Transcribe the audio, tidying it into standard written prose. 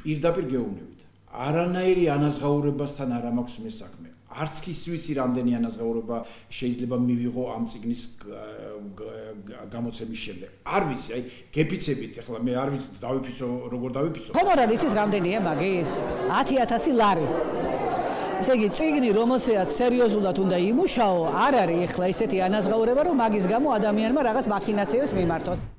პირდაპირ გეუბნებით. არანაირი ანაზღაურებასთან არ მაქვს მე საქმე. არც ის ვიცი რამდენი ანაზღაურება შეიძლება მივიღო ამ წიგნის გამოცემის შემდეგ. არ ვიცი, აი გეფიცებით, ახლა მე არ ვიცი დავიფიცო, როგორ დავიფიცო. ჰონორარი იცით რამდენია მაგის? 10,000 ლარი. ესე იგი, წიგნი, რომელსაც სერიოზულად უნდა იმუშაო, არ არის ახლა ისეთი ანაზღაურება, რომ მაგის გამო ადამიანმა რაღაც მახინაციებს მიმართოთ.